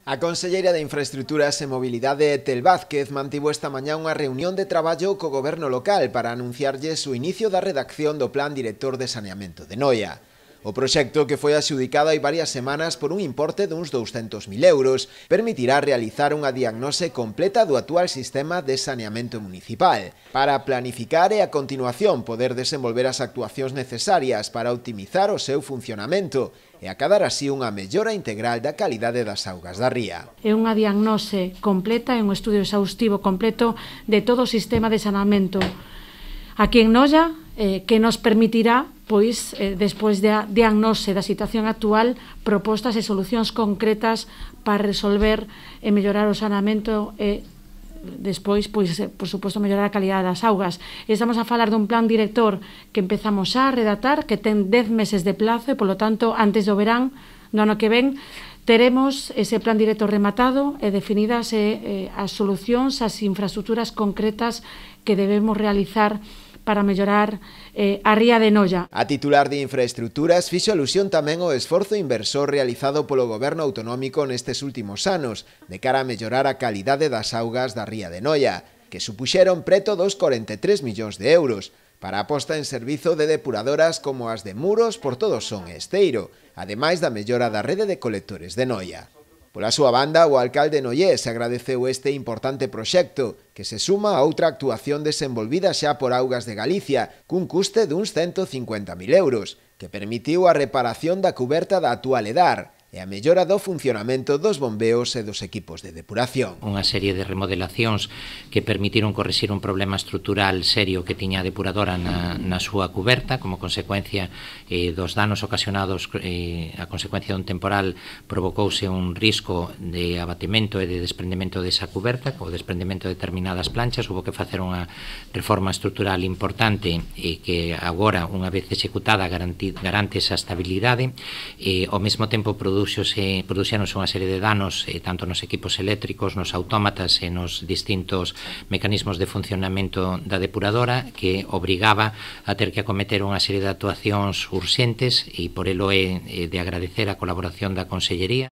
A conselleira de Infraestructuras e Mobilidade, Tel Vázquez, mantivo esta mañá unha reunión de traballo co goberno local para anunciarlles o inicio da redacción do Plan Director de Saneamento de Noia. O proxecto, que foi adxudicado hai varias semanas por un importe duns 200.000 euros, permitirá realizar unha diagnose completa do actual sistema de saneamento municipal, para planificar e a continuación poder desenvolver as actuacións necesarias para optimizar o seu funcionamento e acadar así unha mellora integral da calidade das augas da ría. É unha diagnose completa e un estudio exhaustivo completo de todo o sistema de saneamento aquí en Noia, que nos permitirá, pois, despois da diagnose da situación actual, propostas e solucións concretas para resolver e mellorar o saneamento e despois, pois, por suposto, mellorar a calidade das augas. Estamos a falar dun plan director que empezamos a redactar, que ten 10 meses de plazo e, polo tanto, antes do verán do ano que ven, teremos ese plan director rematado e definidas as solucións, as infraestructuras concretas que debemos realizar para mellorar a ría de Noia. A titular de Infraestructuras fixo alusión tamén ao esforzo inversor realizado polo goberno autonómico nestes últimos anos de cara a mellorar a calidade das augas da ría de Noia, que supuxeron preto dos 43 millóns de euros, para a posta en servizo de depuradoras como as de Muros, Portodoson e Esteiro, ademais da mellora da rede de colectores de Noia. Pola súa banda, o alcalde noiés agradeceu este importante proxecto, que se suma a outra actuación desenvolvida xa por Augas de Galicia, cun custe duns 150.000 euros, que permitiu a reparación da cuberta da actual Edar e a mellora do funcionamento dos bombeos e dos equipos de depuración. Unha serie de remodelacións que permitiron corrixir un problema estrutural serio que tiña a depuradora na súa cuberta, como consecuencia dos danos ocasionados a consecuencia dun temporal. Provocouse un risco de abatimento e de desprendemento desa cuberta, co desprendemento de determinadas planchas. Hubo que facer unha reforma estrutural importante e que agora, unha vez executada, garante esa estabilidade e ao mesmo tempo produxéronse unha serie de danos tanto nos equipos eléctricos, nos autómatas e nos distintos mecanismos de funcionamento da depuradora, que obrigaba a ter que acometer unha serie de actuacións urxentes, e por elo é de agradecer a colaboración da Consellería.